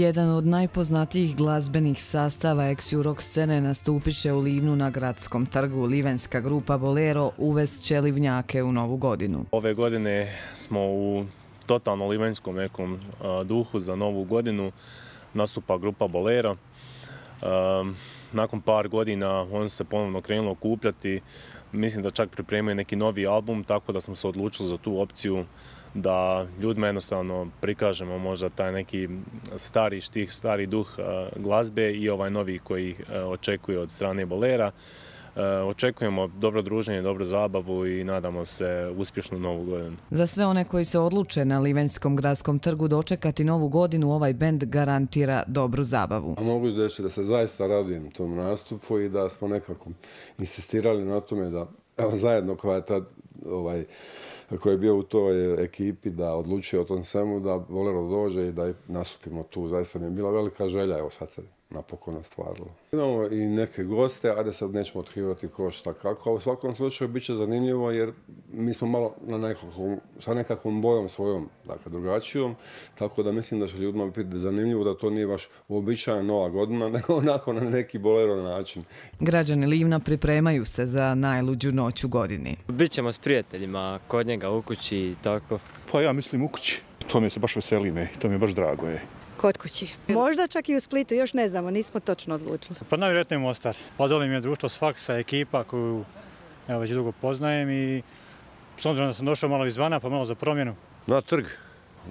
Jedan od najpoznatijih glazbenih sastava ex-rock scene nastupit će u Livnu na Gradskom trgu. Livenska grupa Bolero uvest će livnjake u novu godinu. Ove godine smo u totalno livenskom nekom duhu za novu godinu. Nastupa grupa Bolero. Nakon par godina on se ponovno krenulo okupljati. Mislim da čak pripremaju neki novi album, tako da smo se odlučili za tu opciju da ljudima jednostavno prikažemo možda taj neki stari štih, stari duh glazbe i ovaj novi koji očekuje od strane Bolera. Očekujemo dobro druženje, dobru zabavu i nadamo se uspješnu novu godinu. Za sve one koji se odluče na Livenskom gradskom trgu dočekati novu godinu, ovaj bend garantira dobru zabavu. Mogu reći da se zaista radujem tom nastupu i da smo nekako insistirali na tome da zajedno koji je bio u toj ekipi da odlučuje o tom svemu, da Bolero dođe i da nastupimo tu. Zaista mi je bila velika želja, evo sad se napokon ostvarilo. Imamo i neke goste, ajde sad nećemo otkrivati ko šta kako, a u svakom slučaju bit će zanimljivo jer mi smo malo sa nekakvom bojom svojom, dakle drugačijom, tako da mislim da će ljudima biti zanimljivo da to nije baš uobičajena nova godina, nego onako na neki Bolero način. Građani Livna pripremaju se za najluđu noć u godini. Bićemo s prijateljima kod njega u kući i tako. Pa ja mislim u kući. To mi se baš veseli to mi je baš drago. Kod kući. Možda čak i u Splitu, još ne znamo, nismo točno odlučili. Pa najvjerojatnije Mostar. Pa dole mi je društvo Sfaksa, ekipa koju već dugo poznajem i s obzirom da sam došao malo izvana, pa malo za promjenu. Na trg.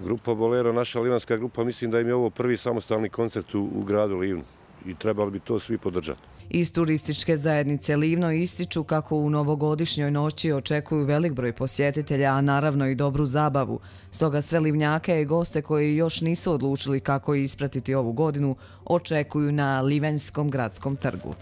Grupa Bolero, naša livanska grupa, mislim da im je ovo prvi samostalni koncert u gradu Livnu i trebali bi to svi podržati. Iz turističke zajednice Livno ističu kako u novogodišnjoj noći očekuju velik broj posjetitelja, a naravno i dobru zabavu. Stoga sve livnjake i goste koji još nisu odlučili kako ispratiti ovu godinu očekuju na Livenskom gradskom trgu.